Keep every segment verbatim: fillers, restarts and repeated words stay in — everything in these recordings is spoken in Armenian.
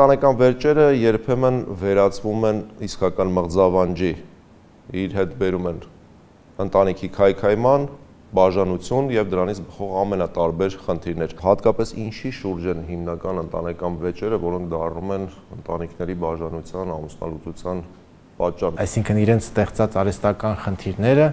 ընտանեկան վերջերը երբեմն վերածվում են իսկական մղձավանջի, իր հետ բերում են ընտանիքի քայքայման, բաժանություն եւ դրանից բխող ամենատարբեր խնդիրներ։ Հատկապես ինչի շուրջ են հիմնական ընտանեկան վեճերը, որոնք դառնում են ընտանիքների բաժանության, ամուսնալուծության պատճառ։ Այսինքն իրենց ստեղծած արհեստական խնդիրները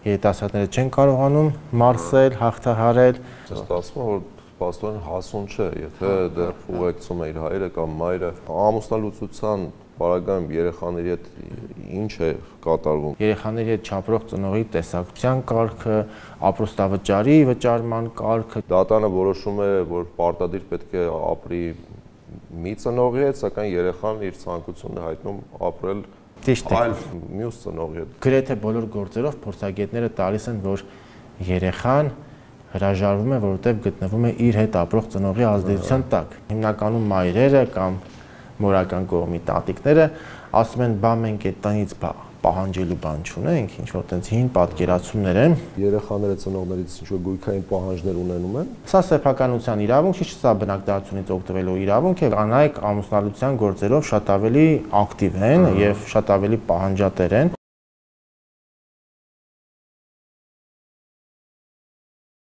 երիտասարդները չեն կարողանում մարսել, հաղթահարել։ Ստացվում է, որ պաստորեն հասուն չէ, եթե դեռ ուղեկցում է իր հայրը կամ մայրը։ Ամուսնալուծության պարագայում երեխաների հետ ինչ է կատարվում։ Երեխաների հետ չապրող ծնողի տեսակցության կարգը, ապրոստավճարի վճարման կարգը։ Դատանը որոշում է, որ պարտադիր պետք է ապրի մի ծնողի հետ, սակայն երեխան իր ցանկությունն է հայտնում ապրել այլ մյուս ծնողի հետ։ Գրեթե բոլոր գործերով փորձագետները տալիս են, որ երեխան հրաժարվում է, որովհետև գտնվում է իր հետ ապրող ծնողի ազդեցության տակ։ Հիմնականում մայրերը կամ մորական կողմի տատիկները ասում են, բա մենք այդտեղից պահանջելու բան չունենք, ինչ որ տենց հին պատկերացումներ են։ Երեխաները ծնողներից ինչ որ գույքային պահանջներ ունենում են։ Սա սեփականության իրավունք չի, սա բնակչությունից օգտվելու իրավունք է։ Կանայք ամուսնալուծության գործերով շատ ավելի ակտիվ են եւ շատ ավելի պահանջատեր են։